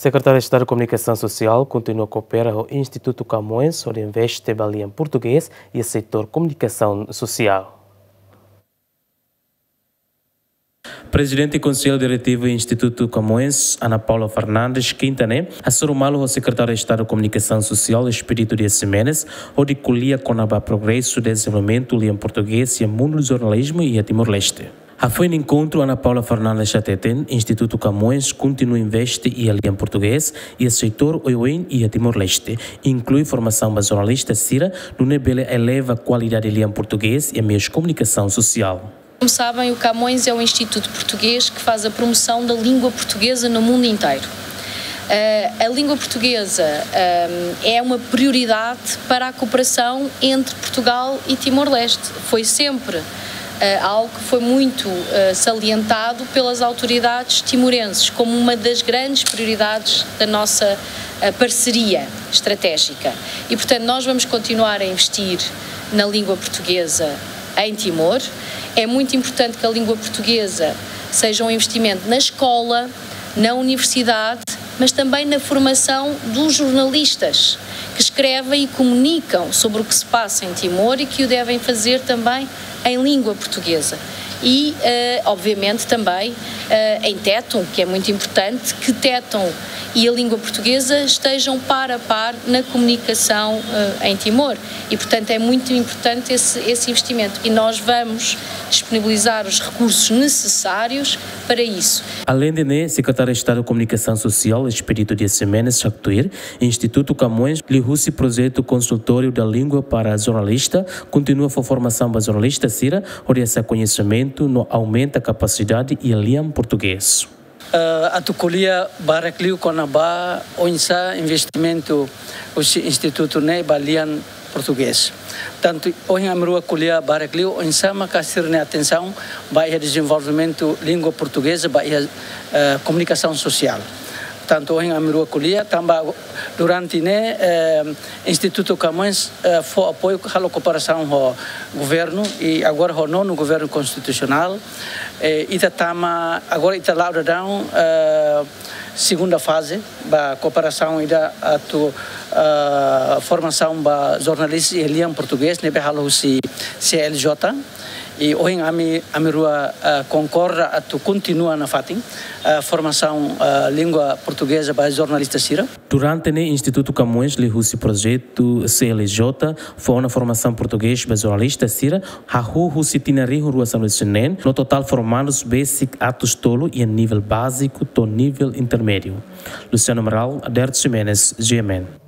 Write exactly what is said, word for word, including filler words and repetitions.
Sekretáriu Estadu Komunikasaun Sosiál kontinua koopera ho Institutu Camões hodi investe ba lian portugés iha setór komunikasaun sosiál. Prezidente Konsellu Diretivu Institutu Camões, Ana Paula Fernandes, kinta ne'e hasoru malu ho Sekretáriu Estadu Komunikasaun Sosiál, Expedito Dias Ximenes, hodi ko'alia kona-ba progresu dezenvolvimentu lian portugés iha mundu jornalizmu iha Timor-Leste. Hafoin enkontru, Ana Paula Fernandes hateten, Institutu Camões kontinua investe iha lian portugés iha setór oioin iha Timor-Leste, inklui formasaun ba jornalista sira, nune'e bele eleva kualidade lian portugés iha meius komunikasaun sosiál. Como sabem, o Camões é um instituto português que faz a promoção da língua portuguesa no mundo inteiro. Eh, a língua portuguesa, ehm, é uma prioridade para a cooperação entre Portugal e Timor-Leste. Foi sempre, eh, algo que foi muito, eh, salientado pelas autoridades timorenses como uma das grandes prioridades da nossa, eh, parceria estratégica. E, portanto, nós vamos continuar a investir na língua portuguesa em Timor. É muito importante que a língua portuguesa seja um investimento na escola, na universidade, mas também na formação dos jornalistas que escrevem e comunicam sobre o que se passa em Timor e que o devem fazer também em língua portuguesa. E, eh, obviamente, também, eh, em Tétum, que é muito importante, que Tétum e a língua portuguesa estejam par a par na comunicação, eh, em Timor. E, portanto, é muito importante esse, esse investimento. E nós vamos disponibilizar os recursos necessários para isso. Aleinde ne'e, Sekretáriu Estadu Komunikasaun Sosiál, Expedito Dias Ximenes, haktuir, Institutu Camões, liuhusi projetu Consultório da Língua para Jornalista, kontinua fó formasaun ba jornalista sira, hodi hasa'e koñesimentu no aumenta kapasidade iha lian portugés. Eh, atu ko'alia barak liu kona-ba oinsá investimentu husi institutu ne'e ba lian portugés. Tantu ohin ami rua ko'alia barak liu oinsá maka sira-nia atensaun ba iha dezenvolvimentu língua portugeza ba iha, eh, komunikasaun sosiál. Tantu ohin ami rua ko'alia, tanba durante ne'e, eh, Institutu Camões, eh, fó apoiu, halo kooperasaun ho governu i agora ho nonu governu konstitusionál. Eh, ita tama, agora ita la'o daudaun, eh, segunda faze ba kooperasaun ida atu, eh, formasaun ba jornalista iha lian portugés ne'ebé halo husi C L J. I ohin ami, ami rua, eh, konkorda atu kontinua nafatin, eh, formasaun, eh, língua portugeza ba jornalista sira. Durante ne'e Institutu Camões liuhusi projetu C L J fó ona formasaun portugés ba jornalista sira, hahú husi tinan rihun rua sanulu-resin-neen, no totál formandus besik atus tolu iha nivel báziku to'o nivel intermédiu. Luciano Amaral, Aderto Ximenes, G M N.